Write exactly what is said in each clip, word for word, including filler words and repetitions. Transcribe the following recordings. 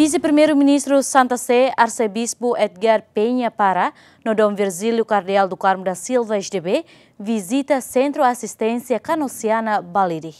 Vise-Primeiru-Ministru Santa Sé, Arsebispu Edgar Penha Parra, no Dom Virgílio Kardeál do Carmo da Silva, S D B, vizita Sentru Asisténsia Kanosiana Balide.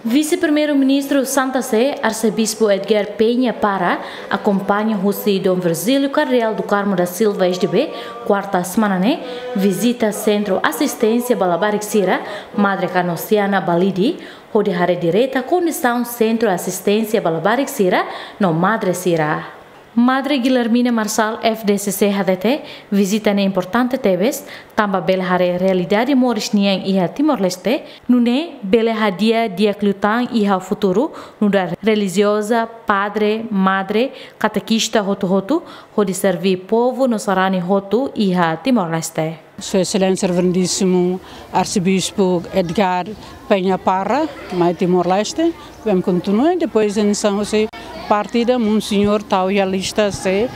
Vise-Primeiru-Ministru Santa Sé, Arsebispu Edgar Penha Parra, akompaña husi Dom Virgílio Kardeál do Carmo da Silva, S D B, kuarta semana ne'e, vizita Sentru Asisténsia ba Labarik sira, Madre Kanosiana Balide, hodi haree direta kondisaun Sentru Asisténsia ba Labarik sira no madre sira. Madre Guilhermina Marçal, F D C C, hatete, vizita ne'e importante tebes, tanba bele haree realidade moris nian iha Timor-Leste, nune'e bele hadi'a di'ak liután iha futuru, nu'udar relijioza, padre, madre, katekista hotu-hotu, hodi serví povu no sarani hotu iha Timor-Leste. Sua Exelénsia Reverendíssimu Arsebispu Edgar Penha Parra, mai Timor-Leste, vem kontinua, depois em São José, partida, Monsenhor, tau iha lista, se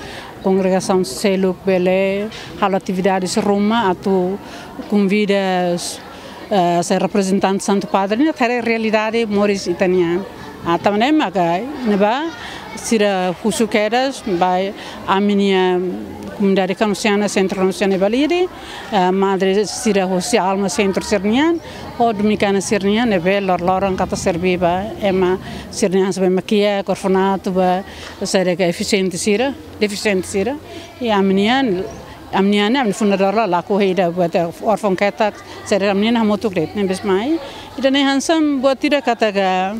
kongregasaun seluk bele halo atividades ruma, atu konvida, eh, se reprezentante Santu Padre, ne'e haree realidade moris ita-nian. Ah, tanba ne'e maka, ne'ebá, sira husu kedas, ba ami-nia komunidade Kanosiana, Sentru Kanosiana Balide, eh, madre sira husi Alma Sentru sira-nian, ho Dominikana sira-nian, ne'ebé lor-loron katak serví ba ema sira-nian, hanesan ema kiak, orfanato ba, saida ke defisiente sira, defisiente sira. I ami-nian, ami-nian, ami fundadór la, lakohi ida buat órfaun ketak, saida ami-nian hamutuk de'it, ne'e bes mai. Ida-ne'e hanesan buat ida katak, eh,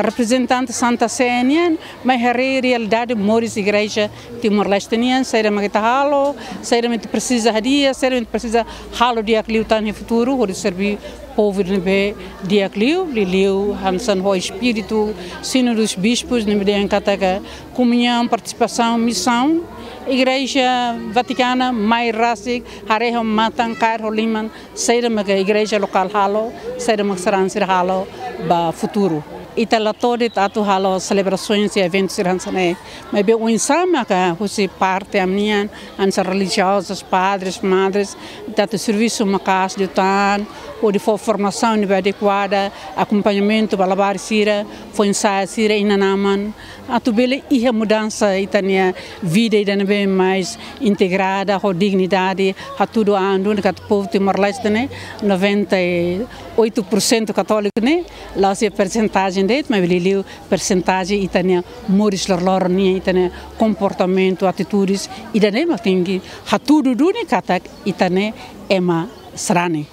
reprezentante Santa Sé nian, mai haree realidade moris igreja Timor-Leste nian, saida mak ita halo, saida mak ita presiza hadi'a, saida mak ita presiza halo di'ak liután iha futuru, hodi serví povu ne'ebé di'ak liu, liuliu hanesan ho espíritu Sínodu dos Bispus, ne'ebé dehan katak komuñaun, partisipasaun, misaun. Igreja Vatikana mai rasik, haree ho matan, kaer ho liman, saida mak igreja lokál halo, saida mak sarani sira halo ba futuru. Ita la to'o de'it atu halo selebrasoens i eventu sira hanesan ne'e. Maibé oinsá maka husi parte ami-nian, hanesan relijiozus, padres, madres, ita atu servisu maka'as liután, hodi fó formasaun ne'ebé adekuada, akompañamentu ba labarik sira, fó ensaia sira, inan-aman, atu bele iha mudansa ita-nia vida ida ne'ebé mais integrada, ho dignidade, hatudu an duni katak povu Timor-Leste ne'e, noventa e oito por cento katóliku ne'e, la'ós iha persentajen de'it, maibé liuliu persentajen ita-nia moris lorloron nian, ita-nia komportamentu, atitudes, ida-ne'e mak tenke hatudu duni katak ita ne'e ema sarani.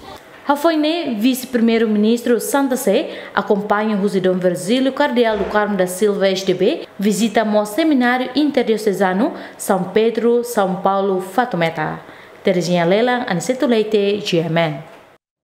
Hafoin ne'e, Vise-Primeiru-Ministru Santa Sé, akompaña husi Dom Virgílio Kardeál do Carmo da Silva, S D B, vizita mós Semináriu Interdiosezanu São Pedro, São Paulo, Fatumeta. Terezinha Lelan, Aniceto Leite, G M N.